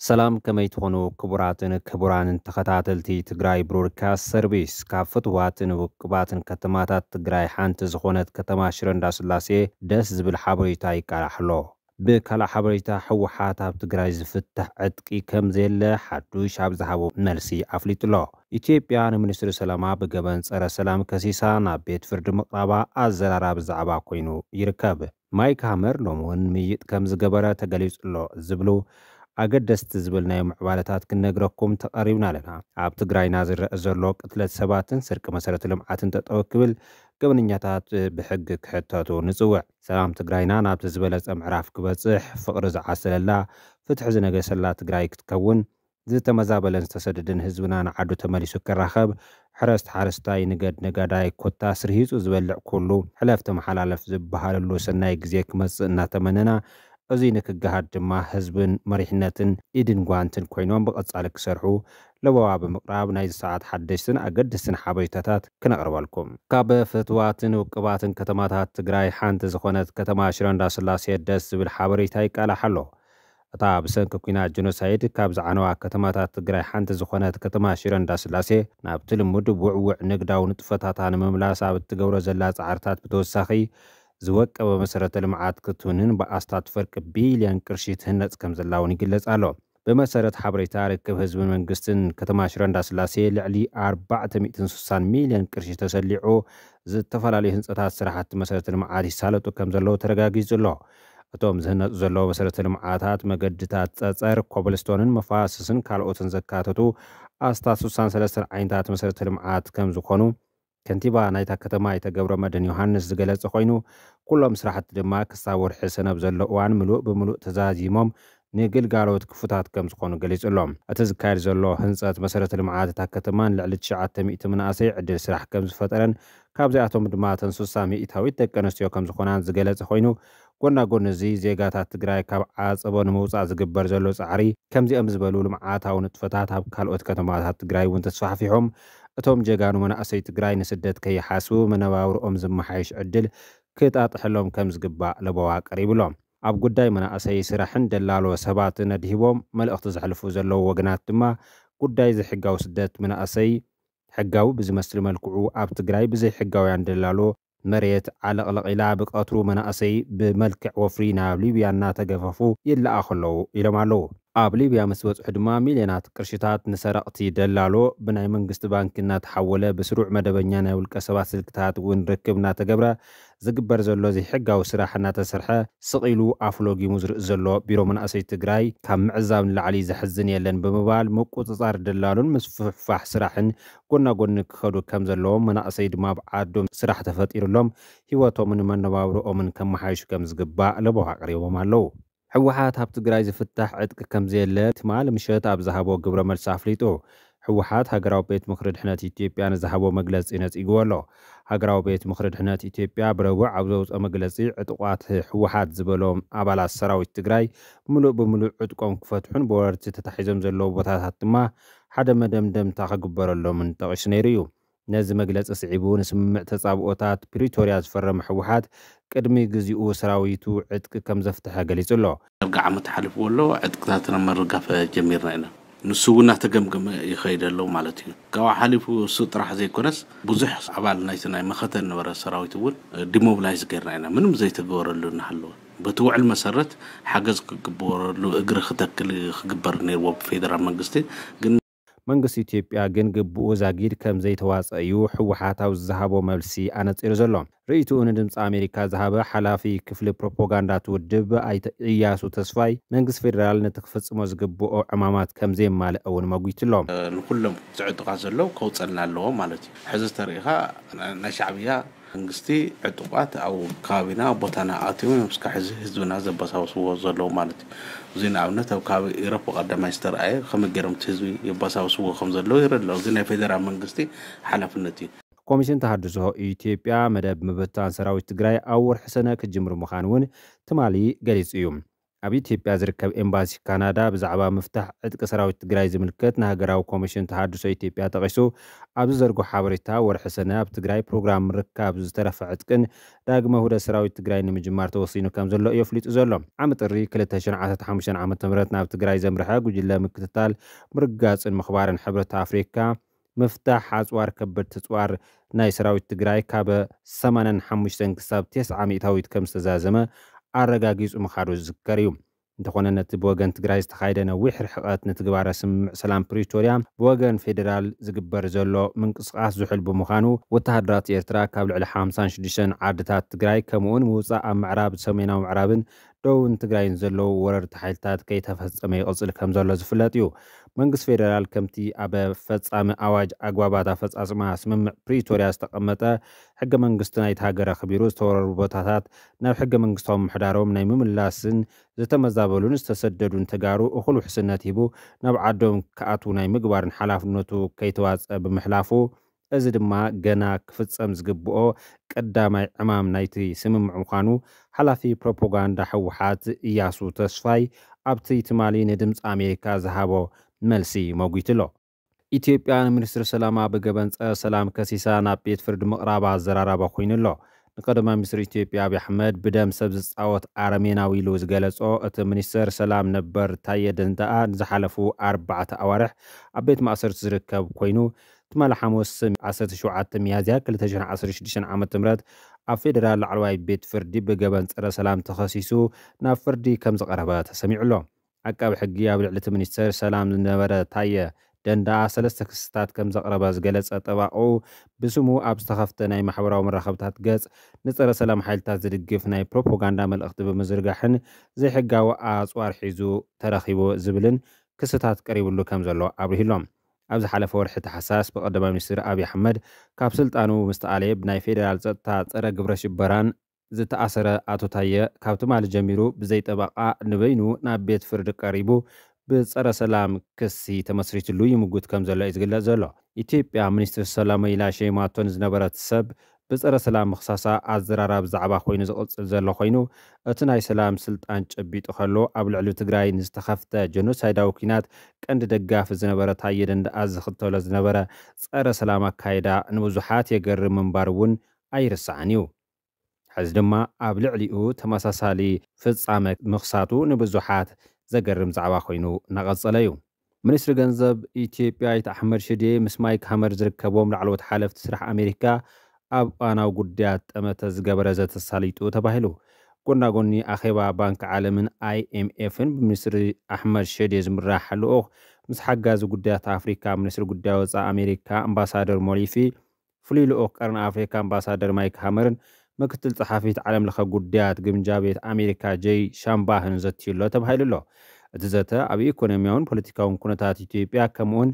ሰላም፣ ከመይ ትኾኑ ክቡራትን ክቡራንን ተኸታተልቲ ትግራይ ብሮድካስት ሰርቪስ? ካብ ፍትዋትን ውቅባትን ከተማታት ትግራይ ሓንቲ ዝኾነት ከተማ ሽረ እንዳስላሴ ደስ ዝብል ሓበሬታ ይቃላሕ ኣሎ። ብካልእ ሓበሬታ፣ ህወሓት ኣብ ትግራይ ዝፍታሕ ዕጥቂ ከም ዘየለ ሓዱሽ ኣብ ዝሃቦ መልሲ ኣፍሊጡ ኣሎ። ኢትዮጵያ ንሚኒስትሪ ሰላማ ብገበን ጸረ ሰላም ከሲሳ ናብ ቤት ፍርዲ ምቕራባ ኣዘራራቢ ዛዕባ ኮይኑ ይርከብ። ማይክ ሃመር ሎሚ እውን ምይጥ ከም ዝገበረ ተገሊጹ ኣሎ ዝብሉ ኣገደስቲ ዝብልናዮ ምዕባለታት ክንነግረኩም ተቐሪብና ኣለና። ኣብ ትግራይና ዝረአ ዘሎ ቅትለት ሰባትን ስርቂ መሰረተ ልምዓትን ጠጠው ክብል፣ ገበነኛታት ብሕጊ ክሕተቱ ንጽውዕ። ሰላም ትግራይና ናብቲ ዝበለጸ ምዕራፍ ክበጽሕ፣ ፍቕሪ ዝዓሰለላ፣ ፍትሒ ዝነገሰላ ትግራይ ክትከውን፣ ዝተመዛበለን ዝተሰደደን ህዝብና ንዓዱ ተመሊሱ ክራኸብ፣ ሕረስቲ ሓረስታይ፣ ንገድ ነጋዳይ፣ ኮታስ ርሂጹ ዝበልዕ ኩሉ፣ ሕለፍ ተመሓላለፍ ዝበሃለሉ ሰናይ ግዜ ክመጽእ እናተመነና፣ እዚ ንክገሃድ ድማ ህዝብን መሪሕነትን ኢድን ጓንትን ኮይኖም ብቐጻሊ ክሰርሑ ለበዋ ብምቕራብ፣ ናይዚ ሰዓት ሓደሽትን ኣገደስትን ሓበሬታታት ክነቕርበልኩም። ካብ ፍትዋትን ውቅባትን ከተማታት ትግራይ ሓንቲ ዝኾነት ከተማ ሽረ እንዳስላሴ ደስ ዝብል ሓበሬታ ይቃላሕ ኣሎ። እታ ብሰንኪ ኲናት ጀኖሳይድ ካብ ዝዓነዋ ከተማታት ትግራይ ሓንቲ ዝኾነት ከተማ ሽረ እንዳስላሴ፣ ናብቲ ልሙድ ውዕውዕ ንግዳዊ ንጥፈታታ ንምምላስ ኣብ እትገብሮ ዘላ ጻዕርታት ብተወሳኺ፣ ዝወቀበ መሰረተ ልምዓት ክትውንን ብኣስታት ፍርቂ ቢልዮን ቅርሺ ትህነጽ ከም ዘላ እውን ይግለጽ ኣሎ። ብመሰረት ሓበሬታ ርክብ ህዝብን መንግስትን፣ ከተማ ሽረ እንዳስላሴ ልዕሊ ኣርባዕተ ሚእትን ስሳን ሚልዮን ቅርሺ ተሰሊዑ፣ ዝተፈላለዩ ህንጸታት፣ ስራሕቲ መሰረተ ልምዓት ይሳለጡ ከም ዘለዉ ተረጋጊጹ ኣሎ። እቶም ዝህነጹ ዘለዉ መሰረተ ልምዓታት፣ መገድታት፣ ጸጸር፣ ኮብልስቶንን መፋስስን ካልኦትን ዘካተቱ ኣስታት ስሳን ሰለስተን ዓይነታት መሰረተ ልምዓት ከም ዝኾኑ ከንቲባ ናይታ ከተማ ኣይተ ገብረመድህን ዮሃንስ ዝገለጸ ኮይኑ፣ ኩሎም ስራሕቲ ድማ ክሳብ ወርሒ ሰነ ኣብ ዘሎ እዋን ምሉእ ብምሉእ ተዛዚሞም ንግልጋሎት ክፉታት ከም ዝኾኑ ገሊጹ ኣሎ። እቲ ዝካየድ ዘሎ ህንጸት መሰረተ ልምዓት እታ ከተማን ልዕሊ ትሽዓተ ሚእቲ መናእሰይ ዕድል ስራሕ ከም ዝፈጠረን፣ ካብዚኣቶም ድማ እተን ስሳ ሚእታዊት ደቂ ኣንስትዮ ከም ዝኾናን ዝገለጸ ኮይኑ፣ ጎና ጎኒ እዚ ዜጋታት ትግራይ ካብ ዓጸቦ ንምውጻእ ዝግበር ዘሎ ጻዕሪ፣ ከምዚኦም ዝበሉ ልምዓታዊ ንጥፈታት ኣብ ካልኦት ከተማታት ትግራይ እውን ተስፋሕፊሖም፣ እቶም ጀጋኑ መናእሰይ ትግራይ ንስደት ከይሓስቡ፣ መነባብርኦም ዝመሓየሽ ዕድል ክጣጥሐሎም ከም ዝግባእ ለበዋ ቀሪቡ ኣሎ። ኣብ ጉዳይ መናእሰይ ስራሕን ደላሎ ሰባትን ኣድሂቦም መልእኽቲ ዘሕልፉ ዘለዉ ወገናት ድማ፣ ጉዳይ ዘይሕጋዊ ስደት መናእሰይ ሕጋዊ ብዝመስል መልክዑ ኣብ ትግራይ ብዘይሕጋውያን ደላሎ መሬት ዓለቕለቕ ኢላ ብቐትሩ መናእሰይ ብመልክዕ ወፍሪ ናብ ሊብያ እናተገፈፉ ይለኣኹ ኣለዉ ኢሎም ኣለዉ። ኣብ ሊብያ ምስ በጽሑ ድማ ሚልዮናት ቅርሽታት ንሰረቕቲ ደላሎ ብናይ መንግስቲ ባንኪ እናተሓወለ ብስሩዕ መደበኛ ናይ ውልቀ ሰባት ስልክታት እውን ርክብ እናተገብረ ዝግበር ዘሎ ዘይሕጋዊ ስራሕ እናተሰርሐ ስቕ ኢሉ ኣፉ ሎጊሙ ዝርኢ ዘሎ ቢሮ መናእሰይ ትግራይ ካብ ምዕዛብ ንላዕሊ ዘሕዝን የለን ብምባል ምቁጽጻር ደላሎን ምስፍሕፋሕ ስራሕን ጎና ጎኒ ክኸዱ ከም ዘለዎም መናእሰይ ድማ ኣብ ዓዶም ስራሕ ተፈጢሩሎም ህይወቶምን መነባብሮኦምን ከመሓይሹ ከም ዝግባእ ለበዋ ኣቕሪቦም ኣለዉ። ህወሓት ኣብ ትግራይ ዝፍታሕ ዕጥቂ ከም ዘየለ ትማሊ ምሸት ኣብ ዝሃቦ ግብረ መልሲ ኣፍሊጡ። ህወሓት ሃገራዊ ቤት ምኽሪ ድሕነት ኢትዮጵያ ንዝሃቦ መግለጺ ነጺግዎ ኣሎ። ሃገራዊ ቤት ምኽሪ ድሕነት ኢትዮጵያ ብረቡዕ ኣብ ዘውፅኦ መግለፂ፣ ዕጡቓት ህወሓት ዝበሎም ኣባላት ሰራዊት ትግራይ ምሉእ ብምሉእ ዕጥቆም ክፈትሑን ብወረርቲ ተታሒዞም ዘለዉ ቦታታት ድማ ሓደ መደምደምታ ክግበረሎምን ጠቒሱ ነይሩ እዩ። ነዚ መግለፂ ስዒቡ፣ ንስምምዕ ተፃብኦታት ፕሪቶርያ ዝፈረመ ህወሓት ቅድሚ ግዚኡ ሰራዊቱ ዕጥቂ ከም ዘፍተሐ ገሊጹ ኣሎ። ዳርጋ ዓመት ሓሊፍዎ ኣሎ፣ ዕጥቅታትና ምርጋፍ ጀሚርና ኢና። ንሱ እውን እናተገምገመ ይኸይድ ኣሎ ማለት እዩ። ካብኡ ሓሊፉ እሱ ጥራሕ ዘይኮነስ፣ ብዙሕ ኣባል ናይቲ ናይ መኸተ ዝነበረ ሰራዊት እውን ዲሞብላይዝ ጌርና ኢና፣ ምንም ዘይተገበረሉ እናሃለወ። በቲ ውዕል መሰረት ሓገዝ ክግበረሉ እግሪ ክተክል ክግበር ነይርዎ ብፌደራል መንግስቲ፣ ግን መንግስቲ ኢትዮጵያ ግን ግብኡ ዛጊድ ከም ዘይተዋፀ እዩ ህወሓት ኣብ ዝሃቦ መልሲ ኣነፂሩ ዘሎ። ርእይትኡ ንድምፂ ኣሜሪካ ዝሃበ ሓላፊ ክፍሊ ፕሮፓጋንዳ እቲ ውድብ ኣይተ እያሱ ተስፋይ፣ መንግስቲ ፌደራል ነቲ ክፍፅሞ ዝግብኦ ዕማማት ከም ዘየማልአ እውን መጒቱ ኣሎ። ንኩሎም ዝዕጡቓት ዘለዉ ከውፀልና ኣለዎ ማለት እዩ። ሕዚ ተሪኢኻ ናይ ሻዕብያ መንግስቲ ዕጡቓት ኣብ ከባቢና ቦታና ኣትዮም እዮም እስካዕ ሕዚ ህዝብና ዘበሳብስዎ ዘለዉ ማለት እዩ። እዚ ንኣብነት ኣብ ከባቢ ኢሮፕ ቀዳማይ ዝተረኣየ ከመይ ገይሮም እቲ ህዝቢ የበሳብስዎ ከም ዘለዉ ይረድእ ኣሎ። እዚ ናይ ፌደራል መንግስቲ ሓላፍነት እዩ። ኮሚሽን ተሃድሶ ኢትዮጵያ መደብ ምብታን ሰራዊት ትግራይ ኣብ ወርሒ ሰነ ክጅምር ምዃኑ እውን ትማሊ ገሊጹ እዩ። ኣብ ኢትዮጵያ ዝርከብ ኤምባሲ ካናዳ ብዛዕባ ምፍታሕ ዕጥቂ ሰራዊት ትግራይ ዝምልከት ንሃገራዊ ኮሚሽን ተሃድሶ ኢትዮጵያ ጠቒሱ ኣብ ዝዘርጎ ሓበሬታ፣ ወርሒ ሰነ ኣብ ትግራይ ፕሮግራም ምርካብ ዝተረፈ ዕጥቅን ዳግመ ውህደት ሰራዊት ትግራይ ንምጅማር ተወሲኑ ከም ዘሎ እዩ ኣፍሊጡ ዘሎ። ዓሚ ጥሪ ክልተ ሽሕን ዓሰርተ ሓሙሽተን ዓመተ ምህረት ናብ ትግራይ ዘምርሐ ጉጅለ ምክትታል፣ ምርጋፅን ምኽባርን ሕብረት ኣፍሪካ ምፍታሕ ኣፅዋር ከበድቲ ኣፅዋር ናይ ሰራዊት ትግራይ ካብ ሰማንያን ሓሙሽተን ክሳብ ተስዓ ሚእታዊት ከም ዝተዛዘመ ኣረጋጊፁ ምኻዱ ዝዝከር እዩ። እንተኾነ ነቲ ብወገን ትግራይ ዝተኻየደ ነዊሕ ርሕቐት ንትግባረ ስምምዕ ሰላም ፕሪቶርያ ብወገን ፌዴራል ዝግበር ዘሎ ምንቅስቓስ ዝሑል ብምዃኑ፣ ወተሃደራት ኤርትራ ካብ ልዕሊ ሓምሳን ሽዱሽተን ዓድታት ትግራይ ከምኡውን ምውፃእ ኣብ ምዕራብ፣ ሰሜናዊ ምዕራብን ደቡብን ትግራይን ዘለዉ ወረርቲ ሓይልታት ከይተፈጸመ ይቕጽል ከም ዘሎ ዝፍለጥ እዩ። መንግስቲ ፌዴራል ከምቲ ኣብ ፈጻሚ ኣዋጅ ኣግባባት ኣፈጻጽማ ስምምዕ ፕሪቶርያ ዝተቐመጠ፣ ሕገ መንግስቲ ናይቲ ሃገር ኣኽቢሩ ዝተወረሩ ቦታታት ናብ ሕገ መንግስታዊ ምሕዳሮም ናይ ምምላስን ዝተመዛበሉን ዝተሰደዱን ተጋሩ እኹል ውሕስነት ሂቡ ናብ ዓዶም ክኣትዉ ናይ ምግባርን ሓላፍነቱ ከይተዋጸ ብምሕላፉ፣ እዚ ድማ ገና ክፍጸም ዝግብኦ ቀዳማይ ዕማም ናይቲ ስምምዕ ምዃኑ ሓላፊ ፕሮፓጋንዳ ህወሓት እያሱ ተስፋይ ኣብቲ ትማሊ ንድምፂ ኣሜሪካ ዝሃቦ መልሲ መጒቱ ኣሎ። ኢትዮጵያ ንሚኒስትሪ ሰላማ ብገበን ጸረ ሰላም ከሲሳ ናብ ቤት ፍርዲ ምቕራባ ኣዘራራቢ ኮይኑ ኣሎ። ንቀዳማይ ሚኒስትር ኢትዮጵያ ኣብይ ኣሕመድ ብደም ሰብ ዝጻወት ኣረሜናዊ ኢሉ ዝገለጾ እቲ ሚኒስተር ሰላም ነበር ታየ ደንደኣ ንዝሓለፉ ኣርባዕተ ኣዋርሕ ኣብ ቤት ማእሰርቲ ዝርከብ ኮይኑ፣ ትማሊ ሓሙስ ዓሰርተ ሸውዓተ ሚያዝያ ክልተ ሽሕን ዓሰርተ ሽዱሽተን ዓመተ ምህረት ኣብ ፌዴራል ላዕለዋይ ቤት ፍርዲ ብገበን ጸረ ሰላም ተኸሲሱ ናብ ፍርዲ ከም ዝቐረበ ተሰሚዑ ኣሎ። ዓቃቢ ሕጊ ኣብ ልዕሊ እቲ ሚኒስተር ሰላም ዝነበረ ታየ ደንደኣ ሰለስተ ክስታት ከም ዘቕረበ ዝገለጸ ጠባቕኡ፣ ብስሙ ኣብ ዝተኸፍተ ናይ ማሕበራዊ መራኸብታት ገጽ ንጸረ ሰላም ሓይልታት ዝድግፍ ናይ ፕሮፓጋንዳ መልእኽቲ ብምዝርጋሕን ዘይሕጋዊ ኣጽዋር ሒዙ ተረኺቡ ዝብልን ክስታት ቀሪብሉ ከም ዘሎ ኣብሪሁሎም። ኣብ ዝሓለፈ ወርሒ ታሕሳስ ብቀዳማይ ሚኒስትር ኣብይ ኣሕመድ ካብ ስልጣኑ ምስ ተኣለየ ብናይ ፌዴራል ጸጥታ ጸረ ግብረ ሽበራን ዝተኣሰረ ኣቶ ታየ ካብ ትማሊ ጀሚሩ ብዘይ ጠበቓ ንበይኑ ናብ ቤት ፍርዲ ቀሪቡ ብጸረ ሰላም ክሲ ተመስሪትሉ ይምጉት ከም ዘሎ እዩ ዝግለጽ ዘሎ። ኢትዮጵያ ሚኒስትር ሰላም ኢላ ሸይማቶ ንዝነበረት ሰብ ብጸረ ሰላም ምኽሳሳ ኣዘራራቢ ዛዕባ ኮይኑ ዝቕጽል ዘሎ ኮይኑ፣ እቲ ናይ ሰላም ስልጣን ጨቢጡ ከሎ ኣብ ልዕሊ ትግራይ ንዝተኸፍተ ጀኖሳይዳዊ ኲናት ቀንዲ ደጋፊ ዝነበረ ታየ ደንደኣ ዝኽተሎ ዝነበረ ጸረ ሰላም ኣካይዳ ንብዙሓት የገርም ምንባሩ እውን ኣይርሳዕን እዩ። ሕዚ ድማ ኣብ ልዕሊኡ ተመሳሳሊ ፍጻመ ምኽሳቱ ንብዙሓት ዘገርም ዛዕባ ኮይኑ እናቐጸለ እዩ። ሚኒስትሪ ገንዘብ ኢትዮጵያ ኣይተ ኣሕመድ ሽዴ ምስ ማይክ ሃመር ዝርከቦም ላዕለዎት ሓለፍቲ ስራሕ ኣሜሪካ ኣብ እዋናዊ ጉዳያት ጠመተ ዝገበረ ዘተ ተሳሊጡ ተባሂሉ። ጎና ጎኒ ኣኼባ ባንክ ዓለምን ኣይኤምኤፍን ብሚኒስትሪ ኣሕመድ ሸዴ ዝምራሕ ልኡኽ ምስ ሓጋዚ ጉዳያት ኣፍሪካ ሚኒስትሪ ጉዳይ ወፃኢ ኣሜሪካ ኣምባሳደር ሞሊፊ፣ ፍሉይ ልኡኽ ቀርኒ ኣፍሪካ ኣምባሳደር ማይክ ሃመርን ምክትል ጸሓፊት ዓለም ለኸ ጉዳያት ግምጃ ቤት ኣሜሪካ ጀይ ሻምባህን ዘትዩ ኣሎ ተባሂሉ ኣሎ። እቲ ዘተ ኣብ ኢኮኖሚያውን ፖለቲካውን ኩነታት ኢትዮጵያ ከምኡውን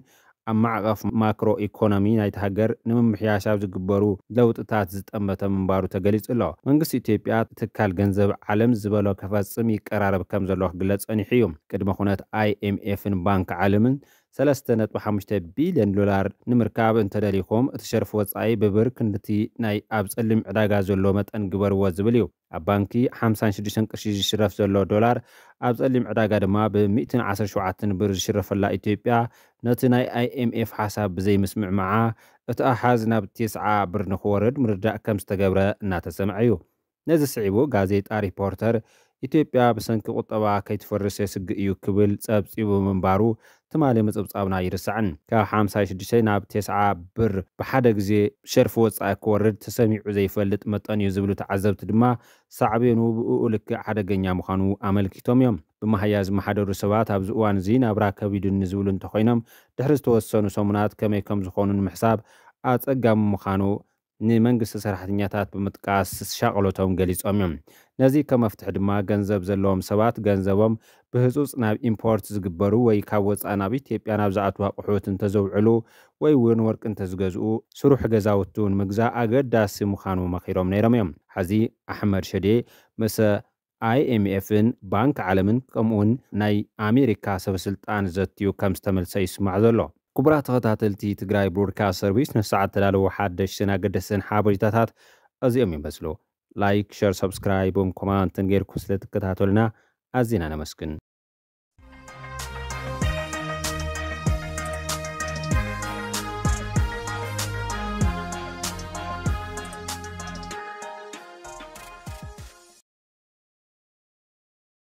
ኣብ ማዕቐፍ ማክሮ ኢኮኖሚ ናይቲ ሃገር ንምምሕያሽ ኣብ ዝግበሩ ለውጥታት ዝጠመተ ምንባሩ ተገሊጹ ኣሎ። መንግስቲ ኢትዮጵያ ትካል ገንዘብ ዓለም ዝበሎ ክፈጽም ይቀራረብ ከም ዘሎ ክግለጽ ጸኒሑ እዩ። ቅድመ ኩነት ኣይኤምኤፍን ባንክ ዓለምን ሰለስተ ነጥቢ ሓሙሽተ ቢልዮን ዶላር ንምርካብ እንተደሊኹም፣ እቲ ሸርፊ ወጻኢ ብብር ክንድቲ ናይ ኣብ ጸሊም ዕዳጋ ዘሎ መጠን ግበርዎ ዝብል እዩ። ኣብ ባንኪ ሓምሳን ሽዱሽተን ቅርሺ ዝሽረፍ ዘሎ ዶላር፣ ኣብ ጸሊም ዕዳጋ ድማ ብ ሚእትን ዓሰርተ ሸውዓተን ብር ዝሽረፈላ ኢትዮጵያ፣ ነቲ ናይ ኣይኤምኤፍ ሓሳብ ብዘይምስምዕማዓ፣ እቲ ኣሃዝ ናብ ተስዓ ብር ንኽወርድ ምርዳእ ከም ዝተገብረ እናተሰምዐ እዩ። ነዚ ስዒቡ ጋዜጣ ሪፖርተር፣ ኢትዮጵያ ብሰንኪ ቁጠባ ከይትፈርስ የስግእ እዩ ክብል ጸብጺቡ ምንባሩ ትማሊ ምጽብጻብና ኣይርሳዕን። ካብ ሓምሳ ሽዱሽተ ናብ ተስዓ ብር ብሓደ ግዜ ሸርፊ ወጻኢ ክወርድ ተሰሚዑ ዘይፈልጥ መጠን እዩ ዝብሉ ተዓዘብቲ ድማ ሳዕቤኑ ብእኡ ልክዕ ሓደገኛ ምዃኑ ኣመልኪቶም እዮም። ብመሃያ ዝመሓደሩ ሰባት ኣብዚ እዋን እዚ ናብራ ከቢዱኒ ዝብሉ እንተኾይኖም፣ ድሕሪ ዝተወሰኑ ሰሙናት ከመይ ከም ዝኾኑ ንምሕሳብ ኣጸጋሚ ምዃኑ ንመንግስቲ ሰራሕተኛታት ብምጥቃስ ሻቕሎቶም ገሊጾም እዮም። ነዚ ከም መፍትሒ ድማ ገንዘብ ዘለዎም ሰባት ገንዘቦም ብህጹጽ ናብ ኢምፖርት ዝግበሩ ወይ ካብ ወጻኢ ናብ ኢትዮጵያ ናብ ዝኣትዉ ኣቑሑት እንተዘውዕሉ ወይ እውን ወርቂ እንተዝገዝኡ፣ ስሩሕ ገዛውቲ እውን ምግዛእ ኣገዳሲ ምዃኑ መኺሮም ነይሮም እዮም። ሕዚ ኣሕመድ ሸዴ ምስ ኣይኤምኤፍን ባንክ ዓለምን ከምኡውን ናይ ኣሜሪካ ሰበስልጣን ዘትዩ ከም ዝተመልሰ ይስማዕ ዘሎ። ክቡራት ተኸታተልቲ ትግራይ ብሮድካስት ሰርቪስ፣ ንሰዓት ተዳለዉ ሓደሽትን ኣገደስትን ሓበሬታታት እዚኦም ይመስሉ። ላይክ፣ ሸር፣ ሰብስክራይብን ኮማንትን ጌርኩም ስለ ትከታተሉና ኣዚና ነመስግን።